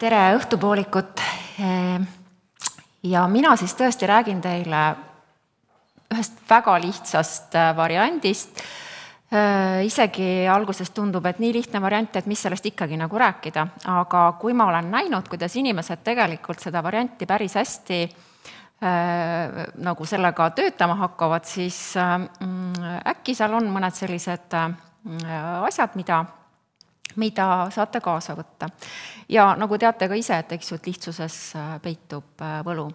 Tere õhtupoolikut ja mina siis tõesti räägin teile ühest väga lihtsast variandist. Isegi alguses tundub, et nii lihtne variant, et mis sellest ikkagi nagu rääkida. Aga kui ma olen näinud, kuidas inimesed tegelikult seda varianti päris hästi nagu sellega töötama hakkavad, siis äkki seal on mõned sellised asjad, mida saate kaasa võtta. Ja nagu teate ka ise, et lihtsuses peitub võlu.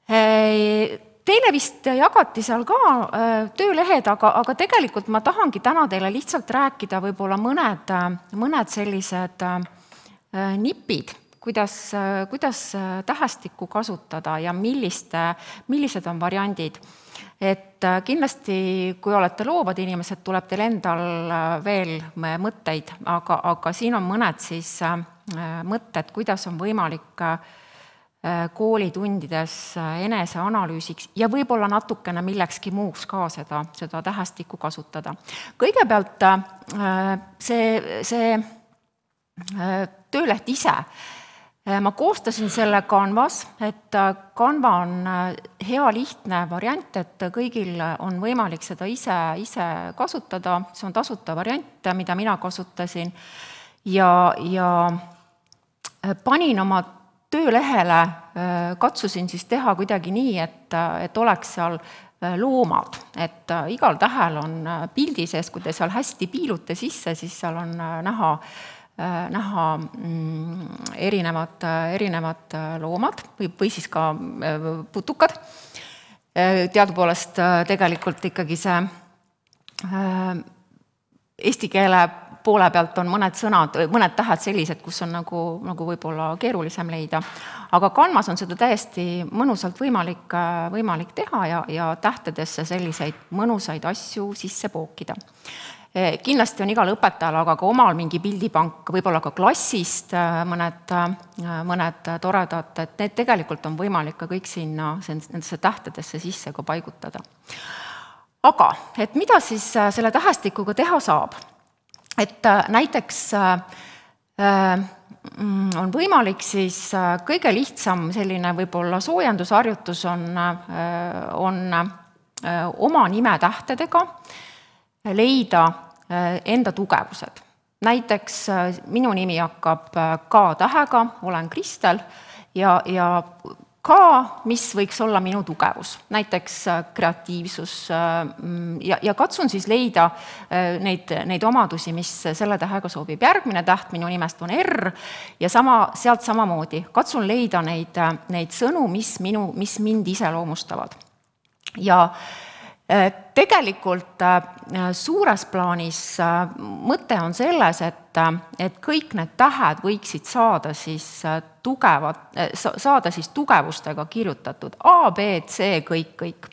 Teile vist jagati seal ka töölehed, aga tegelikult ma tahangi täna teile lihtsalt rääkida võib-olla mõned sellised nipid, kuidas tähestikku kasutada ja millised on variandid. Et kindlasti, kui olete loovad inimesed, tuleb teil endal veel mõtteid, aga siin on mõned siis mõtted, kuidas on võimalik koolitundides eneseanalüüsiks ja võib-olla natukene millekski muuks ka seda tähestikku kasutada. Kõigepealt see tööleht ise. Ma koostasin selle Canvas, et Canva on hea lihtne variant, et kõigil on võimalik seda ise kasutada. See on tasuta variant, mida mina kasutasin ja panin oma töölehele, katsusin siis teha kuidagi nii, et oleks seal loomad. Et igal tähel on pildi sees, kui te seal hästi piilute sisse, siis seal on näha erinevad loomad või siis ka putukad. Teadupoolest tegelikult ikkagi see eesti keele poole pealt on mõned tähed sellised, kus on nagu võib-olla keerulisem leida. Aga Canvas on seda täiesti mõnusalt võimalik teha ja tähtedesse selliseid mõnusaid asju sisse pookida. Kindlasti on igal õpetajal, aga ka omal mingi pildipank, võib-olla ka klassist mõned toredad, et need tegelikult on võimalik ka kõik nendesse tähtedesse sisse ka paigutada. Aga, et mida siis selle tähestikuga teha saab? Et näiteks on võimalik siis kõige lihtsam selline võib-olla soojendusharjutus on oma nimetähtedega leida enda tugevused. Näiteks minu nimi hakkab K-tähega, olen Kristel ja K, mis võiks olla minu tugevus. Näiteks kreatiivsus ja katsun siis leida neid omadusi, mis selle tähega sobib. Järgmine täht minu nimest on R ja sealt samamoodi. Katsun leida neid sõnu, mis mind iseloomustavad. Ja tegelikult suures plaanis mõte on selles, et kõik need tähed võiksid saada siis tugevustega kirjutatud. A, B, C, kõik.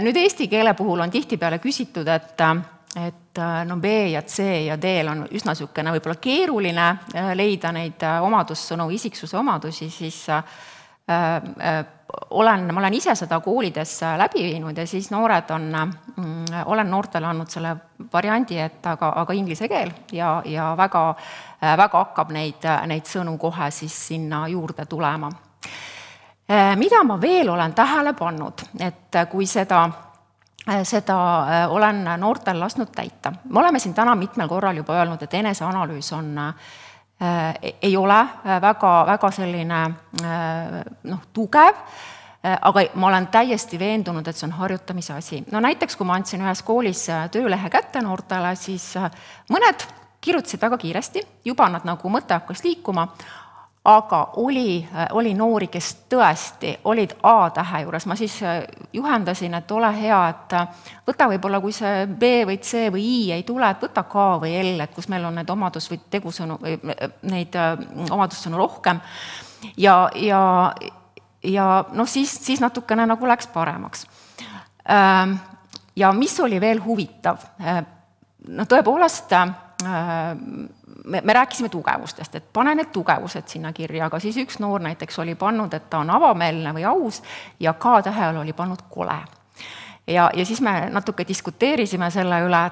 Nüüd eesti keele puhul on tihtipeale küsitud, et B ja C ja D on üsna sükene võib-olla keeruline leida neid omadussõnu, isiksuse omadusi, siis ma olen ise seda koolides läbi viinud ja siis olen noortele andnud selle variandi, et aga inglise keel ja väga hakkab neid sõnu kohe siis sinna juurde tulema. Mida ma veel olen tähele pannud, et kui seda olen noortel lasknud täita. Me oleme siin täna mitmel korral juba öelnud, et eneseanalüüs ei ole väga selline tugev, aga ma olen täiesti veendunud, et see on harjutamise asi. No näiteks, kui ma andsin ühes koolis töölehe kätte noortele, siis mõned kirjutasid väga kiiresti, juba nad nagu mõte hakkas liikuma, aga oli noori, kes tõesti olid A-tähe juures. Ma siis juhendasin, et ole hea, et võta võib-olla, kui see B või C või I ei tule, et võta K või L, et kus meil on need omadus- või tegusõnu, neid omadussõnu rohkem. Ja siis natukene nagu läks paremaks. Ja mis oli veel huvitav? Tõepoolest, me rääkisime tugevustest, et pane need tugevused sinna kirja, aga siis üks noor näiteks oli pannud, et ta on avameelne või aus ja K-tähel oli pannud kole. ja siis me natuke diskuteerisime selle üle,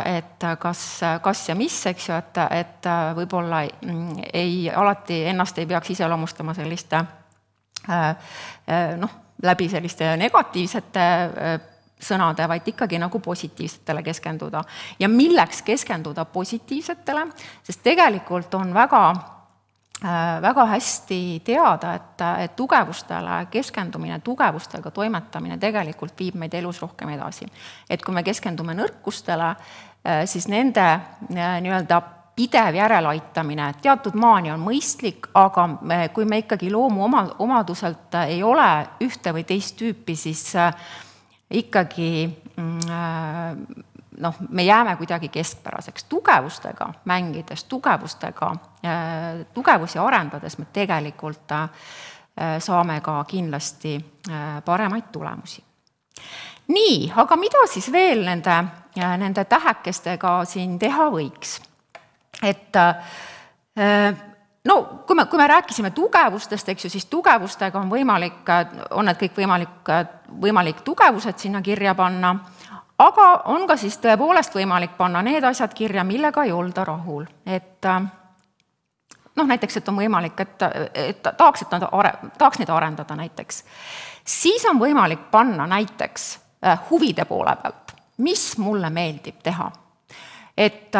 et kas ja mis, eks ju, et võib-olla alati ennast ei peaks iseloomustama selliste läbi selliste negatiivsete sõnade, vaid ikkagi nagu positiivsetele keskenduda. Ja milleks keskenduda positiivsetele, sest tegelikult on väga hästi teada, et tugevustele keskendumine, tugevustega toimetamine tegelikult viib meid elus rohkem edasi. Et kui me keskendume nõrkustele, siis nende nii-öelda pidev järelaitamine, teatud maani on mõistlik, aga kui me ikkagi loomuomaduselt ei ole ühte või teist tüüpi, siis ikkagi me jääme kuidagi keskpäraseks. Tugevustega mängides, tugevusi arendades me tegelikult saame ka kindlasti paremaid tulemusi. Nii, aga mida siis veel nende tähekestega siin teha võiks? Et kui me rääkisime tugevustest, eks ju, siis tugevustega on need kõik võimalik tugevused sinna kirja panna, aga on ka siis tõepoolest võimalik panna need asjad kirja, millega ei olda rahul. Et näiteks, et on võimalik, et tahaks neid arendada näiteks. Siis on võimalik panna näiteks huvide poole pealt, mis mulle meeldib teha. Et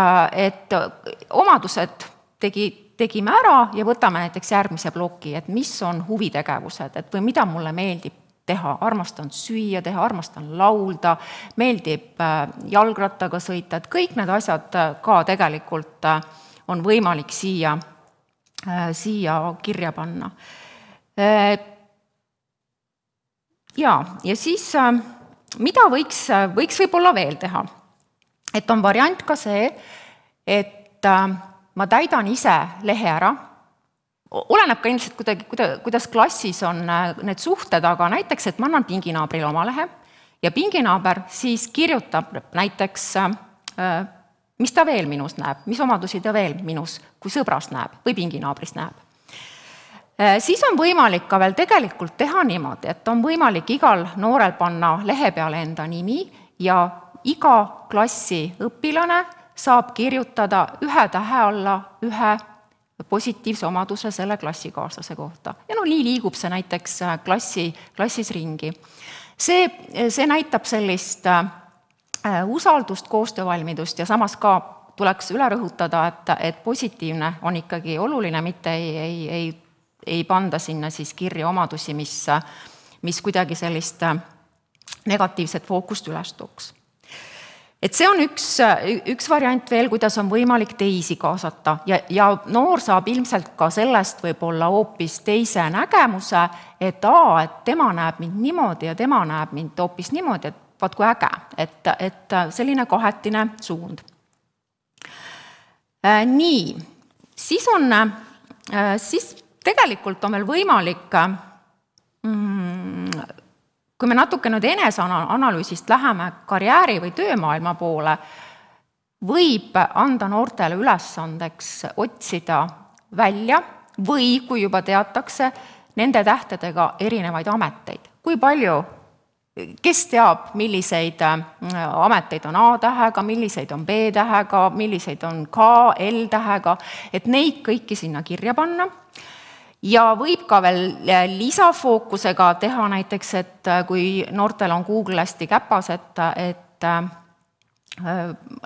omadused tegime ära ja võtame näiteks järgmise ploki, et mis on huvitegevused, et või mida mulle meeldib teha, armastan süüa teha, armastan laulda, meeldib jalgrattaga sõita, et kõik need asjad ka tegelikult on võimalik siia kirja panna. Ja siis, mida võiks võib-olla veel teha? Et on variant ka see, et ma täidan ise lehe ära. Oleneb ka ilmselt kuidas klassis on need suhted, aga näiteks, et ma annan pinginaabrile oma lehe ja pinginaaber siis kirjutab näiteks, mis ta veel minus näeb, mis omadusi ta veel minus kui sõbrast näeb või pinginaabrist näeb. Siis on võimalik ka veel tegelikult teha niimoodi, et on võimalik igal noorel panna lehe peale enda nimi ja iga klassi õpilane saab kirjutada ühe tähe alla ühe positiivse omaduse selle klassikaaslase kohta. Ja nii liigub see näiteks klassis ringi. See näitab sellist usaldust, koostöövalmidust ja samas ka tuleks üle rõhutada, et positiivne on ikkagi oluline, mitte ei panda sinna siis kirja omadusi, mis kuidagi sellist negatiivset fookust üles tooks. Et see on üks variant veel, kuidas on võimalik teisi kaasata ja noor saab ilmselt ka sellest võib-olla hoopis teise nägemuse, et tema näeb mind niimoodi ja tema näeb mind hoopis niimoodi, et vaat kui äge, et selline kahetine suund. Nii, siis tegelikult on veel võimalik, kui me natuke nüüd eneseanalüüsist läheme karjääri või töömaailma poole, võib anda noortele ülesandeks otsida välja või kui juba teatakse nende tähtedega erinevaid ameteid. Kui palju, kes teab, milliseid ameteid on A-tähega, milliseid on B-tähega, milliseid on K, L-tähega, et neid kõiki sinna kirja panna. Ja võib ka veel lisafookusega teha näiteks, et kui noortel on Google hästi käpas, et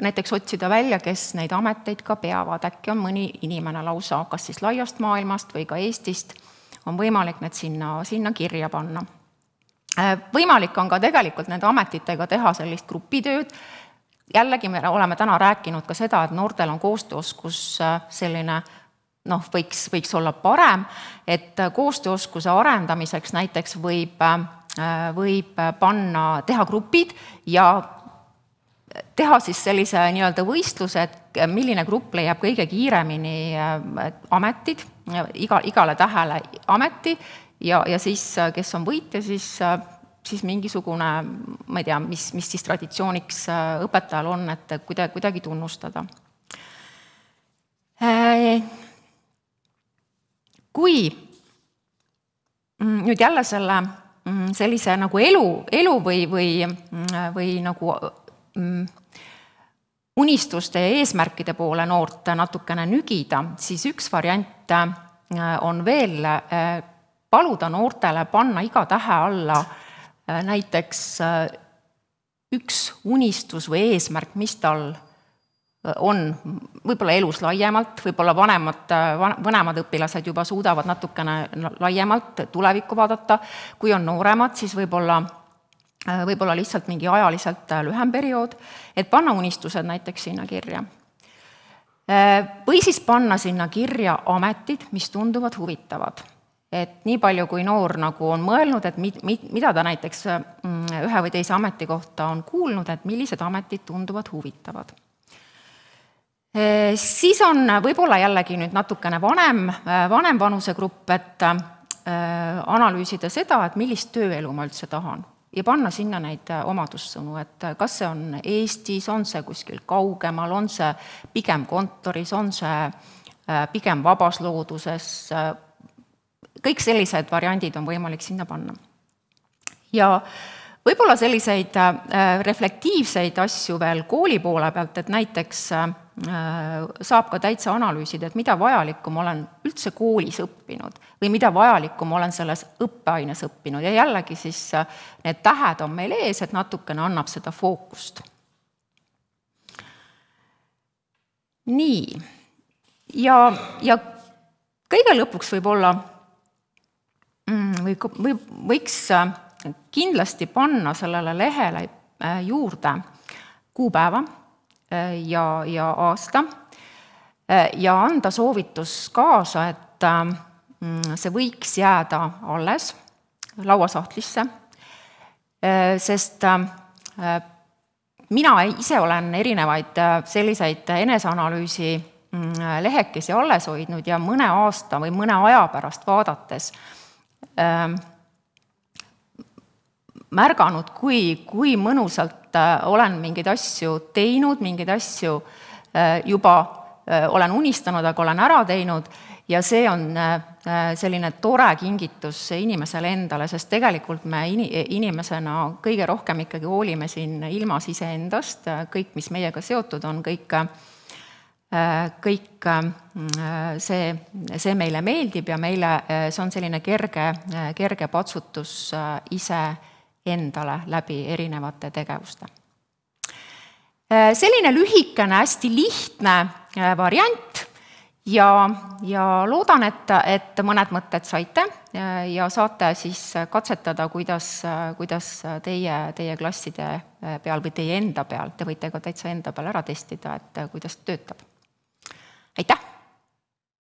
näiteks otsida välja, kes neid ameteid ka peavad. Äkki on mõni inimene lausa, kas siis laiast maailmast või ka Eestist, on võimalik need sinna kirja panna. Võimalik on ka tegelikult nende ametitega teha sellist grupitööd. Jällegi me oleme täna rääkinud ka seda, et noortel on koostööoskus selline võiks olla parem, et koostööoskuse arendamiseks näiteks võib teha grupid ja teha siis sellise nii-öelda võistluse, et milline grupp leiab kõige kiiremini ametid, igale tähele ameti ja siis, kes on võitja, siis mingisugune, ma ei tea, mis siis traditsiooniks õpetajal on, et kuidagi tunnustada. Kui nüüd jälle selle sellise nagu elu või nagu unistuste ja eesmärkide poole noort natukene nügida, siis üks variant on veel paluda noortele panna iga tähe alla näiteks üks unistus või eesmärk, mis tal on võib-olla elus laiemalt, võib-olla vanemad õpilased juba suudavad natukene laiemalt tulevikku vaadata, kui on nooremad, siis võib-olla lihtsalt mingi ajaliselt lühem periood, et panna unistused näiteks sinna kirja. Või siis panna sinna kirja ametid, mis tunduvad huvitavad. Et nii palju, kui noor nagu on mõelnud, et mida ta näiteks ühe või teise ameti kohta on kuulnud, et millised ametid tunduvad huvitavad. Siis on võib-olla jällegi nüüd natukene vanem vanusegrupp, et analüüsida seda, et millist tööelu ma üldse tahan ja panna sinna neid omadussõnu, et kas see on Eestis, on see kuskil kaugemal, on see pigem kontoris, on see pigem vabas looduses, kõik sellised variandid on võimalik sinna panna. Ja võib-olla selliseid reflektiivseid asju veel kooli poole pealt, et näiteks saab ka täitsa analüüsida, et mida vajalikum olen üldse koolis õppinud või mida vajalikum olen selles õppeaines õppinud. Ja jällegi siis need tähed on meil ees, et natukene annab seda fookust. Nii. Ja kõige lõpuks võib-olla võiks kindlasti panna sellele lehele juurde kuupäeva ja aasta ja anda soovitus kaasa, et see võiks jääda alles lauasahtlisse, sest mina ise olen erinevaid selliseid eneseanalüüsi lehekesi alles hoidnud ja mõne aasta või mõne aja pärast vaadates märganud, kui mõnusalt olen mingeid asju teinud, mingeid asju juba olen unistanud, aga olen ära teinud ja see on selline tore kingitus inimesele endale, sest tegelikult me inimesena kõige rohkem ikkagi hoolime siin ilmas iseendast, kõik, mis meiega seotud on, kõik see meile meeldib ja meile see on selline kerge patsutus ise endale läbi erinevate tegevuste. Selline lühikene, hästi lihtne variant ja loodan, et mõned mõtted saite ja saate siis katsetada, kuidas teie klasside peal või teie enda peal, te võite ka täitsa enda peal ära testida, et kuidas töötab. Aitäh!